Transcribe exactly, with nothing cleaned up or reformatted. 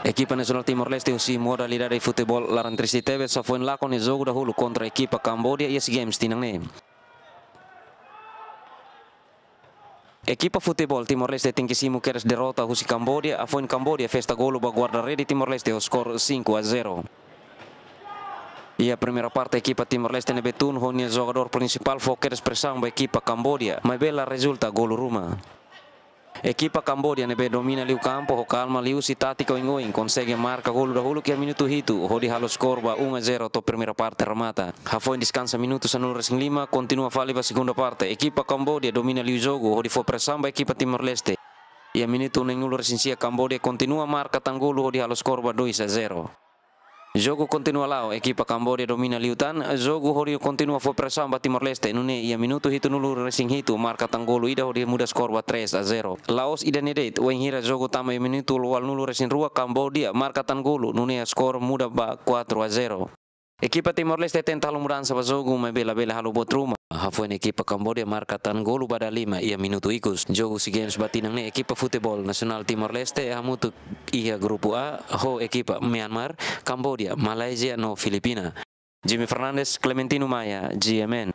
Ekipa nasionál Timor-Leste husi modalidade futeból laran triste tebes hafoin lakon nia jogu dahuluk kontra ekipa Kambodia iha SEA Games tinan ne'e. Ekipa futeból Timor-Leste tenke simu kedas derrota husi Kambodia, hafoin Kambodia festa golu ba guarda-rede Timor-Leste ho skor cinco a zero. Iha primeira parte ekipa Timor-Leste ne'ebé tun ho nia jogadór prinsipál fó kedas presaun ba ekipa Kambodia, maibé la rezulta golu ruma. Ekipa Kambodia ne'ebé domina liu kampu ho kalma liuhusi tátika oin-oin konsege marka golu dahuluk iha minutu hitu, hodi halo skor ba um a zero to'o primeira parte remata. Hafoin deskansa minutu sanulu-resin-lima, kontinua fali ba segunda parte. Ekipa Kambodia domina liu jogu, hodi fó presaun ba ekipa Timor-Leste. Iha minutu neenulu-resin-sia Kambodia kontinua marka tan golu hodi halo skor ba dois a zero. Jogu kontinua la'o, ekipa Kambodia domina liután jogu hodi kontinua fó presaun ba Timor-Leste, nune'e iha minutu hitunulu-resin-hitu marka tan golu ida hodi muda skor ba três a zero. La'ós ida-ne'e de'it, wainhira jogu tama iha minutu ualunulu-resin-rua Kambodia marka tan golu, nune'e skor muda ba quatro a zero. Ekipa Timor-Leste tenta halo mudansa ba jogu, maibé labele halo buat ruma. Hafoin ekipa Kambodia marka tan golu ba dala lima iha minutu ikus. Jogu SEA Games ba tinan ne'e ekipa futeból nasionál Timor-Leste hamutuk iha grupu A ho ekipa Myanmar, Kambodia, Malaysia no Filipina. Jimmy Fernandes, Clementino Maia, G M N.